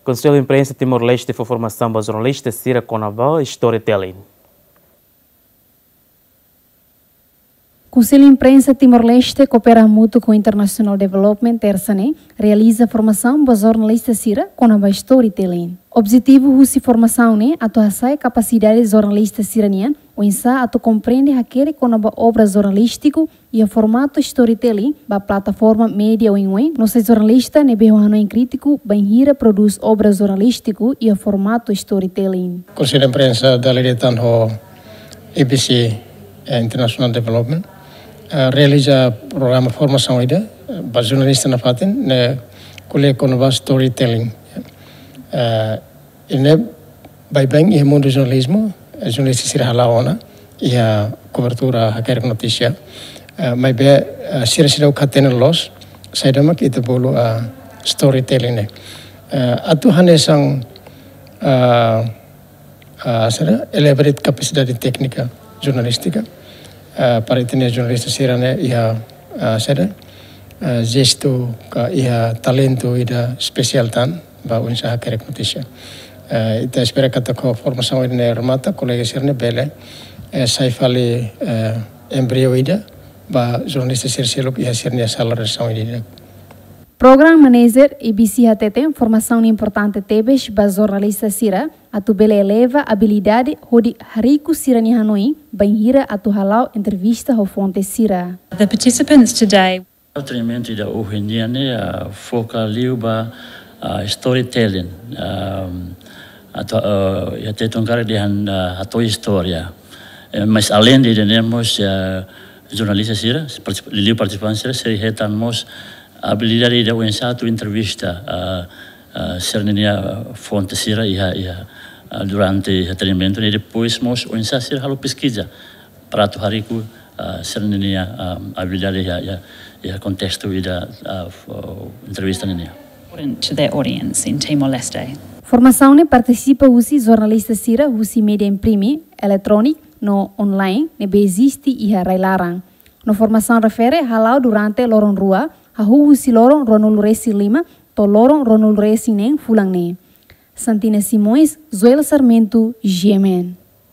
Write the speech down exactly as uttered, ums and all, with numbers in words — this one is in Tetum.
Konsellu Imprensa Timor-Leste fó formasaun ba jornalista sira kona-ba storytelling. Konsellu Imprensa Timor-Leste koopera hamutuk ho International Development, tersa ne'e realiza formasaun ba jornalista sira kona-ba storytelling. Objetivu husi formasaun ne'e atu hasa'e kapasidade jornalista sira-nian oinsá atu komprende hakerek kona-ba obra jornalístiku iha formatu storytelling ba plataforma média oioin, no sai jornalista ne'ebé ho hanoin krítiku bainhira prodús obra jornalístiku iha formatu storytelling. Konsellu Imprensa dala ida tan ho I B C, eh, International Development, eh, realiza programa formasaun ida, eh, ba jornalista nafatin, ne'e ko'alia kona-ba storytelling. Eh, ida-ne'e baibain iha mundu jornalizmu, eh, jornalista sira hala'o ona iha kobertura hakerek notísia. Eh, maibé, eh, sira seidauk hatene loos saida mak ita bolu, eh, storytelling ne'e. Eh, atu hanesan, eh, eh, saida, eleva de'it kapasidade téknika jornalístika, eh, para ita-nia jornalista sira-ne'e iha, eh, saida, eh, jestu ka iha talentu ida espesiál tan ba oinsá hakerek notísia. Eh, ita espera katak ho formasaun ida-ne'e remata, kolega sira-ne'e bele, eh, sai fali, eh, embriu ida ba jornalista sira seluk iha sira-nia sala redasaun ida-idak. Program Manager I B C hateten formasaun importante tebes ba jornalista sira atu bele eleva abilidade hodi hariku sira-nia hanoin bainhira atu hala'o entrevista ho fonte sira. The participants today. Treinamentu ida ohin nian ne'e, ah, foka liu ba, ah, storytelling. Ah, atu, ah, iha Tetun karik dehan, ah, hato'o istória. Eh, mas além de ida-ne'e mós, ah, jornalista sira, partisip-, liu partisipante sira, sei hetan mós abilidade ida oinsá atu entrevista, ah, ah, sira-nia fonte sira iha, iha, ah, durante iha treinamentu ne'e, depois mós oinsá sira halo peskiza para atu hariku, ah, sira-nia, ah, abilidade iha, iha, iha kontestu ida, ah, fo-, entrevista nian. Important to their audience in Timor-Leste. Formasaun ne'e partisipa husi jornalista sira husi média imprime, eletróniku no online ne'ebé eziste iha rai-laran. No formasaun refere hala'o durante loron rua, hahú husi loron ruanulu-resin-lima to'o loron ruanulu-resin-neen fulan ne'e. Santina Simões, Joel Sarmento, G M N.